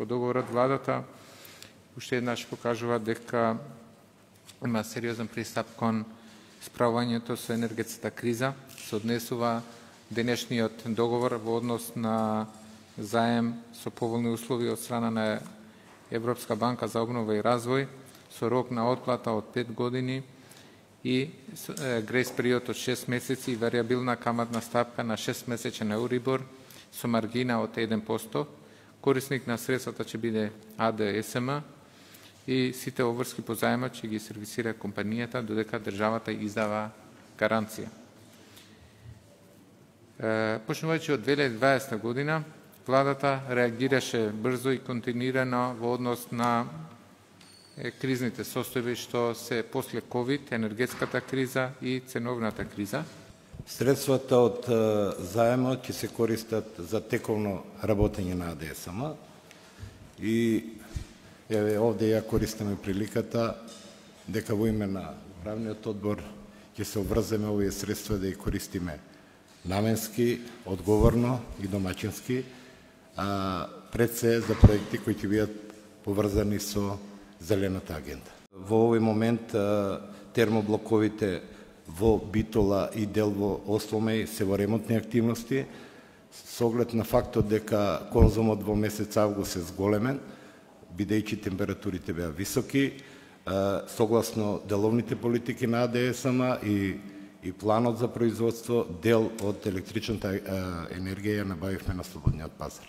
Во договорот владата уште еднаш покажува дека има сериозен пристап кон справувањето со енергетската криза, се однесува денешниот договор во однос на заем со поволни услови од страна на Европска банка за обнова и развој, со рок на отплата од 5 години и грейс период од 6 месеци и вариабилна каматна стапка на 6-месечен Euribor со маргина од 1%. Корисник на средствата ќе биде АДСМ и сите обврски по заемот ќе ги сервисира компанијата додека државата издава гаранција. Почнувајќи од 2020 година, владата реагираше брзо и континуирано во однос на кризните состојби што се после ковид, енергетската криза и ценовната криза. Средствата од заемот ќе се користат за тековно работење на АДСМ и овде ја користиме приликата дека во име на управниот одбор ќе се обврземе овие средства да ги користиме наменски, одговорно и домаќински, пред се за проекти кои ќе бидат поврзани со зелената агенда. Во овој момент термоблоковите во Битола и дел во Осломеј се во ремонтни активности, со оглед на фактот дека конзумот во месец август е зголемен, бидејќи температурите беа високи, согласно деловните политики на АДСМ и планот за производство, дел од електричната енергија ја набавивме на слободниот пазар.